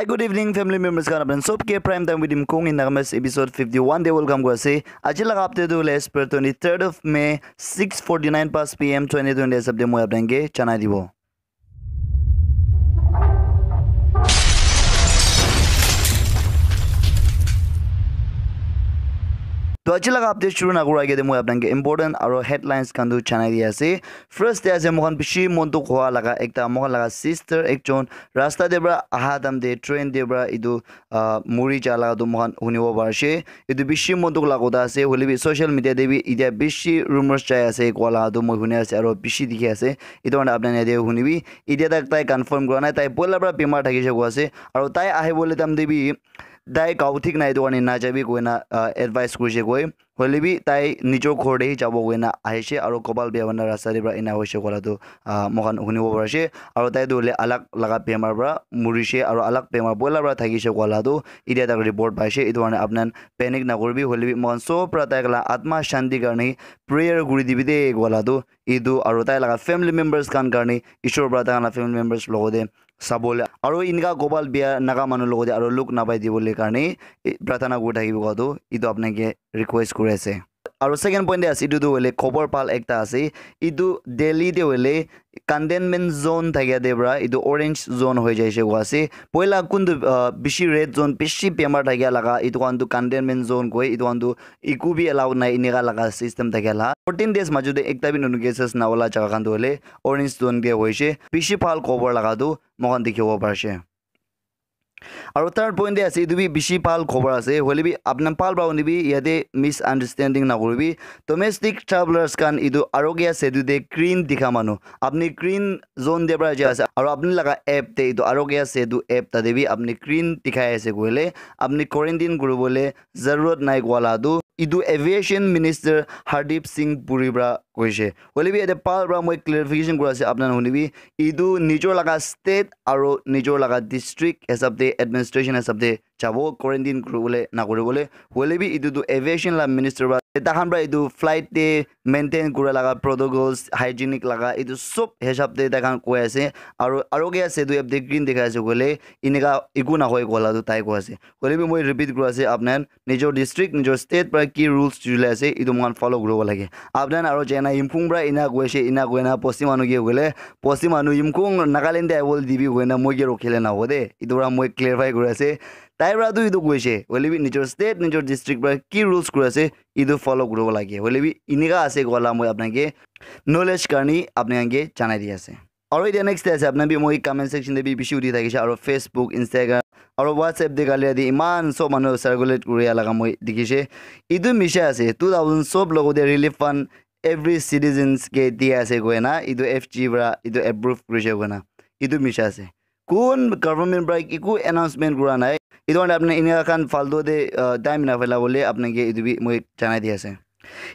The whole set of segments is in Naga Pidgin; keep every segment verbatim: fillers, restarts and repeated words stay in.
Hi, good evening, family members khan. Apni sob ke Prime Time with Imkung in Nagamis episode fifty-one te welcome kuri ase. Aji laga update tu hoile as per twenty-third of May, six forty-nine past P M twenty twenty hisab te moi apni ke janai dibo. To aji laga update shuru na kura age te moi apni ke important aro headlines khan tu janai di ase. First te ase moikhan bishi mon dukh hoa laga ekta moikhan laga sister ekjon rasta te pra aha time te train te pra etu ah, muri ja laga tu moikhan hunibo parishe. Etu bishi mon dukh laga kotha ase, hoile bi social media te bi etia bishi rumors jai ase koa laga tu moi huni ase aro bishi dikhi ase. Etu karne apni khan yate hunibi. Etia tak tai confirm kura nai, tai poila pra bimar thakishe koa ase. Aro tai ahibole time te bi tai gao thik nai, etu karne najabi koina, ah, advice kurishe koi. Hoile bi tai nijor ghor te hi jabo koina ahishe aro kopal bia hoina rasta te pra ena hoishe koa laga tu, ah, moikhan hunibo parishe. Aro tai tu hoile alag laga bimar pra murishe aro alag bimar poila pra thakishe koa laga tu etia tak report paishe. Etu karne apni khan panic nakuribi, hoile bi moikhan sob pra tai laga atma shanti karne prayer kuri dibi de koa laga tu etu aro tai laga family members khan karne Ishwar pra tai laga family members logote sabole aro enika kopal bia naga manu logote aro luk napai dibole karne, eh, prarthana kuri thakibo koa tu etu apni ke request kuri ase. Aro second point te ase, etu tu hoile khobor bhal ekta ase. Etu Delhi te hoile containment zone thakia te pra etu orange zone hoi jaise koa ase. Poila kuntu, ah, bishi red zone, bishi bimar thakia laga, etu khan tu containment zone koi, etu khan tu eku bi allowed nai, enika laga system thakia la. Fourteen days majot te ekta bi notun cases na ola jaga khan tu hoile orange zone te hoishe. Bishi bhal khobor laga tu moikhan dikhibo parishe. Aro third point te ase, etu bi bishi bhal khobor ase, hoile bi apni khan bhal pra hunibi, yate misunderstanding nakuribi. Domestic travelers khan etu Arogya Setu te green dikha manu, apni green zone te pra jai ase, aro apni laga app te etu Arogya Setu app tate bi apni green dikhai ase koile, apni quarantine kuribole zarurat nai koa laga tu etu aviation minister Hardeep Singh Puri pra koishe. Hoile bi yate bhal pra moi clarification kuri ase, apni khan hunibi, etu nijor laga state aro nijor laga district hisab te, administration hisab te jabo quarantine kuribole na kuribole. Hoile bi etu tu aviation la minister pra, tai khan pra etu flight te maintain kura laga protocols, hygienic laga, etu sob hisab te tai khan koi ase. Aro, Arogya Setu app te green dikhai ase koile, enika eku nahoi koa laga tu tai koi ase. Hoile bi moi repeat kuri ase, apni khan nijor district, nijor state pra ki rules chuli ase, etu moikhan follow kuribo lage. Apni khan aro jaina Yimkhiung pra ena koi ase, ena koina bosti manu ke hoile, bosti manu Yimkhiung Nagaland te ahibole dibi koina moi ke rokhile nahobo de. Etu pra moi clarify kuri ase. Tai pra tu etu koishe, hoile bi nijor state, nijor district pra ki rules kuri ase, etu follow kuribo lage. Hoile bi enika ase koa la moi apni khan ke knowledge karne apni khan ke janai di ase. Aro etia next te ase, apni khan bi moi comment section te bi bishi uthi thakishe, aro Facebook, Instagram, aro WhatsApp te kali yate iman sob manu circulate kuri laga moi dikhishe. Etu misha ase, two thousand sob logote relief fund every citizens ke dia ase koina, etu F G pra etu approve kurishe koina. Etu misha ase. Kun government pra eku announcement kura nai. Etu karne apni enika khan faltu te, uh, time na phelabole apni ke etu bi moi janai di ase.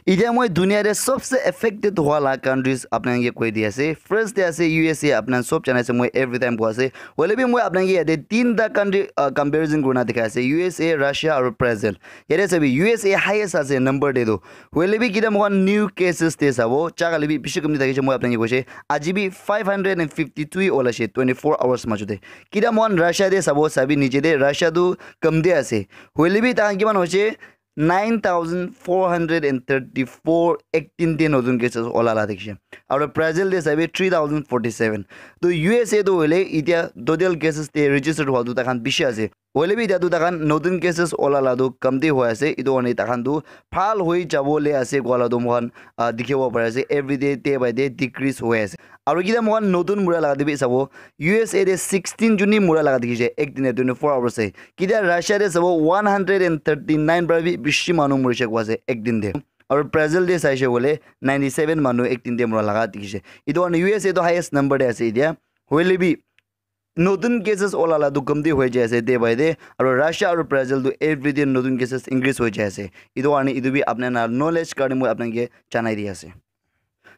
Etia moi dunia te sobse affected hoa la countries apni khan ke koi di ase. First te ase U S A, apni khan sob janai ase, moi every time koi ase. Hoile bi moi apni khan ke yate tinta country, uh, comparison kurina dikhai ase, U S A, Russia aro Brazil. Yate sabi, U S A highest ase number te tu. Hoile bi kita moikhan new cases te sabo, chakali bi bishi kamti thakishe, moi apni khan ke koishe. Aji bi five hundred and fifty-three olaishe twenty-four hours majot te. Kita moikhan Russia te sabo, sabi niche te Russia tu kamti ase. Hoile bi tahan kiman hoishe, nine thousand four hundred and thirty-four ek din te notun cases ola la dikhishe. Aro Brazil te sabi three thousand forty-seven. To U S A to hoile etia total cases te registered hua tu takhan bishi ase. Hoile bi etia tu takhan notun cases ola la tu kamti hoi ase. Etu karne takhan tu bhal hoi jabo le ase koa la tu moikhan, ah, dikhibo pari ase. Every day, day by day decrease hoi ase. Aro kita moikhan notun mura laga te bi sabo, U S A te sixteen juni mura laga dikhishe, ek din te twenty-four hours te. Kita Russia te sabo, one hundred and thirty-nine pra bi bishi manu murishe koa ase ek din te. Aro Brazil te saishe koile, ninety-seven manu ek din te mura laga dikhishe. Etu karne U S A to highest number te ase etia. Hoile bi, notun cases ola la tu kamti hoi jai ase day by day. Aro Russia aro Brazil tu every day notun cases increase hoi jai ase. Etu karne etu bi apni khan la knowledge karne moi apni khan ke janai di ase.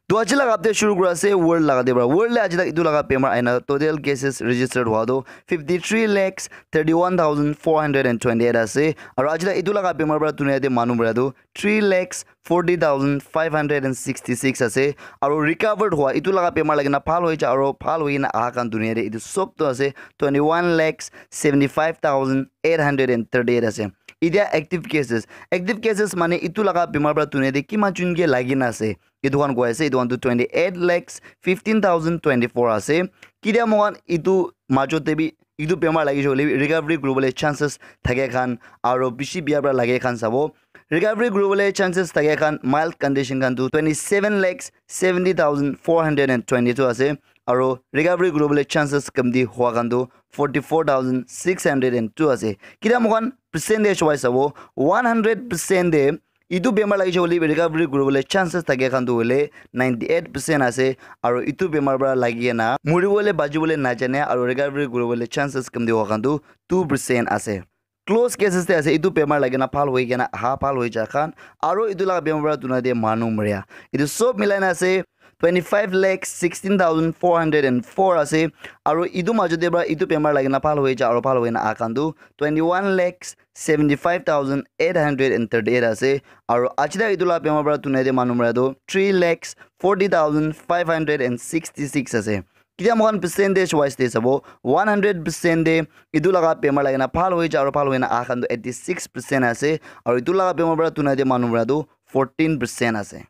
To aji laga update shuru kura ase world laga te para. World le aji tak itu laga bemar aina total cases registered hua tu fifty three lakhs thirty one thousand four hundred and twenty eight ase. Aru aji tak itu laga bemar para dunia te manu mara tu three lakhs forty thousand five hundred and sixty six ase. Aru recovered hua itu laga bemar lagi na bhal hoi ja aru bhal hoi na aha khan dunia te itu sob tu ase twenty one lakhs seventy five thousand eight hundred and thirty eight ase. Itia active cases, active cases mane itu laga bemar para dunia te kiman jun ke lagi na ase. Itu khan koi ase itu khan tu twenty eight lakhs fifteen thousand twenty four ase. Kitia moikhan itu majot te bi itu bemar lagi shole recovery kuribole chances thake khan aru bishi bia para lage khan sabo. Recovery kuribole chances thake khan mild condition khan tu twenty seven lakhs seventy thousand four hundred and twenty two ase. Aru recovery kuribole chances kamti hua khan tu forty four thousand six hundred and two ase. Kitia moikhan percentage wise sabo one hundred percent te itu bemar lagi shole recovery kuribole chances thake khan tu hoile ninety eight percent ase. Aru itu bemar para lagi na muribole bajibole najane aru recovery kuribole chances kamti hua khan tu two percent ase. Close cases te ase itu bemar lagi na bhal hoi kena aha bhal hoi ja khan aru itu laga bemar para dunia te manu maria itu sob milai na ase twenty five lakh sixteen thousand four hundred and four ase. Aru itu majot te para itu bemar lagi na bhal hoi ja aru bhal hoi na aha khan tu twenty one lakhs seventy five thousand eight hundred and thirty eight ase. Aru aji tak itu laga bemar para dunia te manu mara tu three lakhs forty thousand five hundred and sixty six ase. Kitia moikhan percentage wise te sabo one hundred percent te itu laga bemar lagi na bhal hoi ja aru bhal hoi na aha khan tu eighty six percent ase. Aru itu laga bemar para dunia te manu mara tu fourteen percent ase.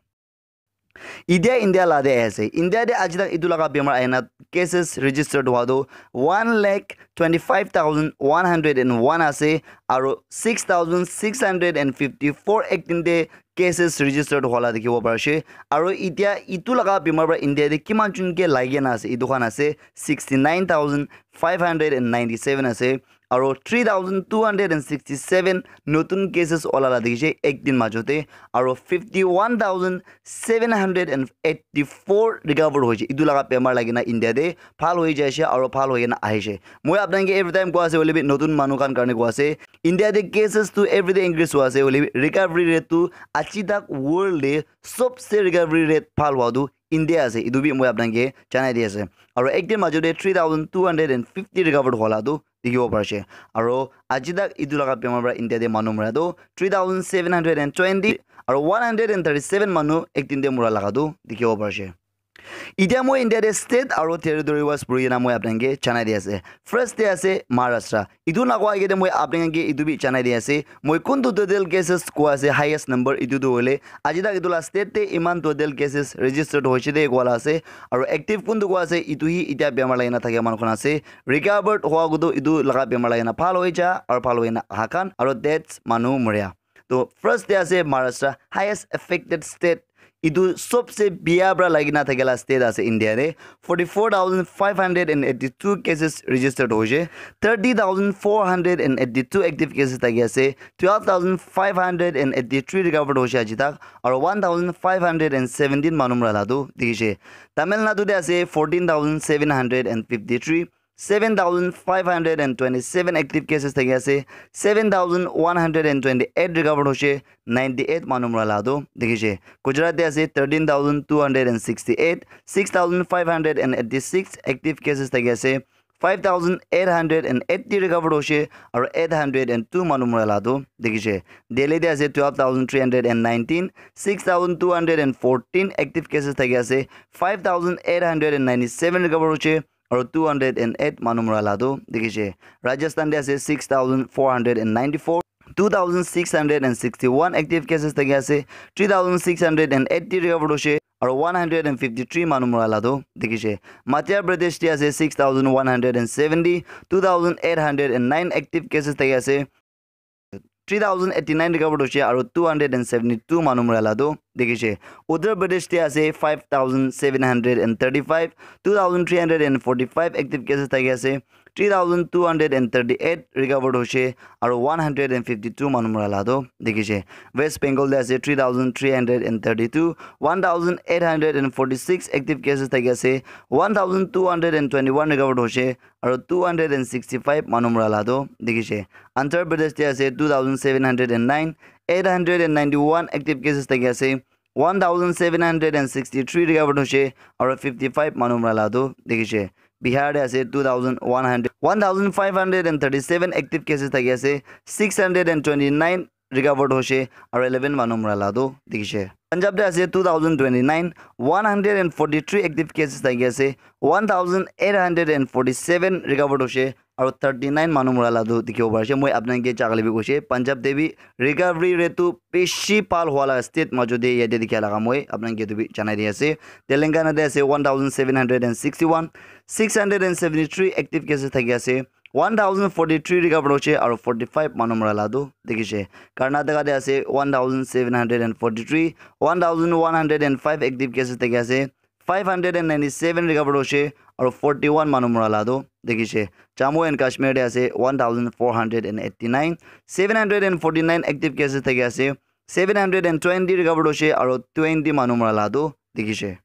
Itia India la te ase. India te aji tak itu laga bemar aina cases registered hua tu one lakh twenty five thousand one hundred and one ase. Aru six thousand six hundred and fifty four ek din te cases registered hua la dikhibo parise. Aru itia itu laga bemar para India te kiman jun ke lagi na ase itu khan ase sixty nine thousand five hundred and ninety seven ase. Aru three thousand two hundred and sixty seven notun cases ola la dikhi ase ek din majot te. Aru fifty one thousand seven hundred and eighty four recover hoise. Itu laga bemar lagi na India te bhal hoi jaise aru bhal hoi kena ahise. Moi apnai ke every time koi ase hoile bi notun manu khan karne koi ase. India te cases tu every day increase hoi ase hoile bi recovery rate tu aji tak world te sobse recovery rate bhal hua tu India ase. Itu bi moi apnai ke janai di ase. Aru ek din majot te three thousand two hundred and fifty recovered hua la tu dikhibo parise. Aru aji tak itu laga bemar para India te manu mara tu three thousand seven hundred and twenty aru one hundred and thirty seven manu ek din te mura laga tu dikhibo parise. Itia moi India te state aru territory wise puri kena moi apnai ke janai di ase. First te ase Maharashtra. Itu na koa agete moi apni khan ke itu bi janai di ase. Moi kuntu total cases koa ase highest number itu tu hoile. Aji tak itu la state te iman total cases registered hoise de koa la ase. Aru active kuntu koa ase itu hi itia bemar lagi na thakia manu khan ase. Recovered hoa kutu itu laga bemar lagi na bhal hoi ja aru bhal hoi na aha khan aru deaths manu moria. To first te ase Maharashtra, highest affected state. Itu sobse bia pra lagi na thakela state ase India te. Forty four thousand five hundred and eighty two cases registered hoise. Thirty thousand four hundred and eighty two active cases thaki ase. Twelve thousand five hundred and eighty three recovered hoise aji tak. Aru one thousand five hundred and seventeen manu mura la tu dikhi se. Tamil Nadu te ase fourteen thousand seven hundred and fifty three. Seven thousand five hundred and twenty seven active cases thaki ase. Seven thousand one hundred and twenty eight recovered hoise. Ninety eight manu mura la tu dikhi se. Gujarat te ase thirteen thousand two hundred and sixty eight. Six thousand five hundred and eighty six active cases thaki ase. Five thousand eight hundred and eighty recovered hoise. Aru eight hundred and two manu mura la tu dikhi se. Delhi te ase twelve thousand three hundred and nineteen. Six thousand two hundred and fourteen active cases thaki ase. Five thousand eight hundred and ninety seven recovered hoise. Aru two hundred and eight manu mura la tu dikhi se. Rajasthan te ase six thousand four hundred and ninety four. Two thousand six hundred and sixty one active cases thaki ase. Three thousand six hundred and eighty recovered hoise. Aru one hundred and fifty three manu mura la tu dikhi se. Madhya Pradesh te ase six thousand one hundred and seventy. Two thousand eight hundred and nine active cases thaki ase. Three thousand eighty nine recovered hoise aru two hundred and seventy two manu mura la tu dikhi se. Uttar Pradesh te ase five thousand seven hundred and thirty five. Two thousand three hundred and forty five active cases thaki ase. Three thousand two hundred and thirty eight recovered hoise aru one hundred and fifty two manu mura la tu dikhi se. West Bengal te ase three thousand three hundred and thirty two. One thousand eight hundred and forty six active cases thaki ase. One thousand two hundred and twenty one recovered hoise aru two hundred and sixty five manu mura la tu dikhi se. Andhra Pradesh te ase two thousand seven hundred and nine. Eight hundred and ninety one active cases thaki ase. one thousand seven hundred and sixty three recovered hoise, aru fifty five manu mura la tu dikhi se. Bihar te ase two thousand one hundred, one thousand five hundred and thirty seven active cases thaki ase, six hundred and twenty nine recovered hoise, aru eleven manu mura la tu dikhi se. Punjab te ase two thousand twenty nine, one hundred and forty three active cases thaki ase, one thousand eight hundred and forty seven recovered hoise, aru thirty nine manu mura la tu dikhibo pari ase. Moi apni khan ke jagale bi koise, Punjab te bi recovery rate tu bishi bhal hua la state majo te yate dikha laga moi apni khan ke tu bi janai di ase. Telangana te ase one thousand seven hundred and sixty one, six hundred and seventy three active cases thaki ase, one thousand forty three recovered hoise, aru forty five manu mura la tu dikhi se. Karnataka te ase one thousand seven hundred and forty three, one thousand one hundred and five active cases thaki ase, five hundred and ninety seven recovered hoise, aru forty one manu mura la tu dikhi se. Jammu and Kashmir te ase one thousand four hundred and eighty nine, seven hundred and forty nine active cases thaki ase, seven hundred and twenty recovered hoise, aru twenty manu mura la tu dikhi se.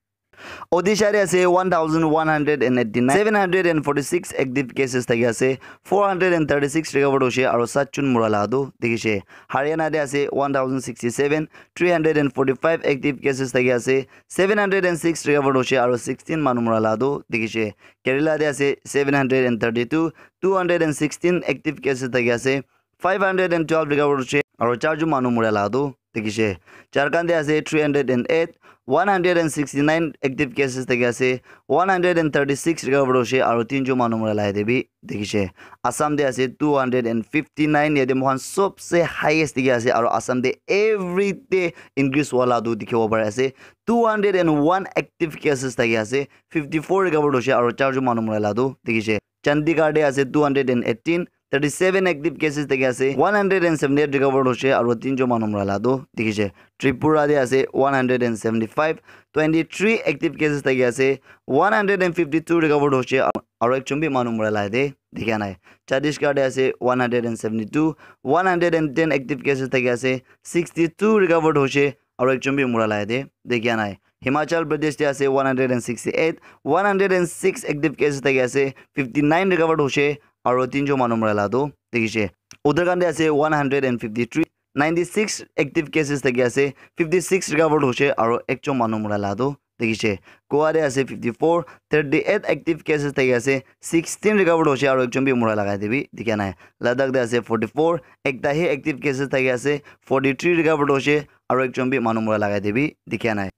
Odisha te ase one thousand one hundred and eighty nine, seven hundred and forty six active cases thaki ase, four hundred and thirty six recovered hoise, aru sat jon mura la tu dikhi se. Haryana te ase one thousand sixty seven, three hundred and forty five active cases thaki ase, seven hundred and six recovered hoise, aru sixteen manu mura la tu dikhi se. Kerala te ase seven hundred and thirty two, two hundred and sixteen active cases thaki ase, five hundred and twelve recovered hoise, aru char jon manu mura la tu dikhi se. Jharkhand te ase three hundred and eight, one hundred and sixty nine active cases thaki ase, one hundred and thirty six recovered hoise, aru tin jon manu mura la yate bi dikhi se. Assam te ase two hundred and fifty nine, yate moikhan sobse highest dikhi ase, aru Assam te every day increase hua la tu dikhibo pari ase. Two hundred and one active cases thaki ase, fifty four recovered hoise, aru char jon manu mura la tu dikhi se. Chandigarh te ase two hundred and eighteen, thirty seven active cases thaki ase, one hundred and seventy eight recovered hoise, aru tin jon manu mura la tu dikhi se. Tripura te ase one hundred and seventy five, twenty three active cases thaki ase, one hundred and fifty two recovered hoise, aru ekjon bi manu mura la yate dikha nai. Chhattisgarh te ase one hundred and seventy two, one hundred and ten active cases thaki ase, sixty two recovered hoise, aru ekjon bi mura la yate dikha nai. Himachal Pradesh te ase one hundred and sixty eight, one hundred and six active cases thaki ase, fifty nine recovered hoise, aru tin jon manu mura la tu dikhi se. Uttarakhand te ase one hundred and fifty three, ninety six active cases thaki ase, fifty six recovered hoise, aru ekjon manu mura la tu dikhi se. Goa te ase fifty four, thirty eight active cases thaki ase, sixteen recovered hoise, aru ekjon bi mura la yate bi dikha nai. Ladakh te ase forty four, ekta he active cases thaki ase, forty three recovered hoise, aru ekjon bi manu mura la yate bi dikha nai.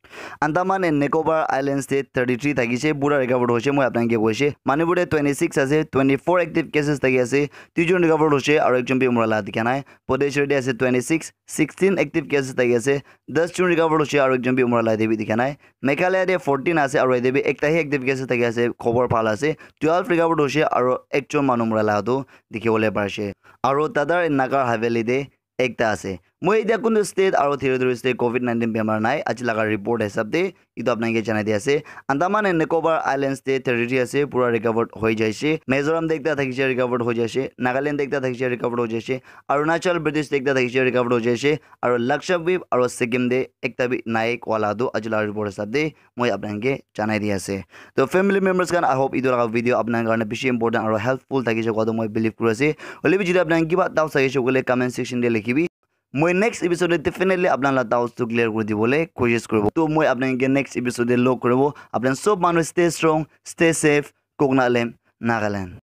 Andaman and Nicobar Islands te thirty three thaki se, pura recovered hoise, moi apni khan ke koise. Manipur te twenty six ase, twenty four active cases thaki ase, dui jon recovered hoise, aru ekjon bi mura la dikha nai. Puducherry te ase twenty six, sixteen active cases thaki ase, das jon recovered hoise, aru ekjon bi mura la yate bi dikha nai. Meghalaya te fourteen ase, aru yate bi ekta he active cases thaki ase, khobor bhal ase, twelve recovered hoise, aru ekjon manu mura la tu dikhi bole pari ase. Aru Dadar and Nagar Haveli te ekta ase. Moi etia kuntu state aru territories te covid nineteen bemar nai, aji laga report hisab te etu apni khan ke janai di ase. Andaman and Nicobar Islands te thirty three ase, pura recovered hoi jaise. Mizoram te ekta thakise, recovered hoi jaise. Nagaland te ekta thakise, recovered hoi jaise. Arunachal Pradesh te ekta thakise, recovered hoi jaise. Aru Lakshadweep aru Sikkim te ekta bi nai koa la tu aji laga report hisab te moi apni khan ke janai di ase. To family members khan, I hope etu laga video apni khan karne bishi important aru helpful thakise koa tu moi believe kuri ase. Hoile bi jodi apni khan kiba doubts thakise koile comment section te likhi bi. Moi next episode te definitely apni khan la doubts tu clear kuri dibole koshish kuribo. To moi apni khan ke next episode te log kuribo. Apni khan sob manu stay strong, stay safe. Koknalim, Nagaland.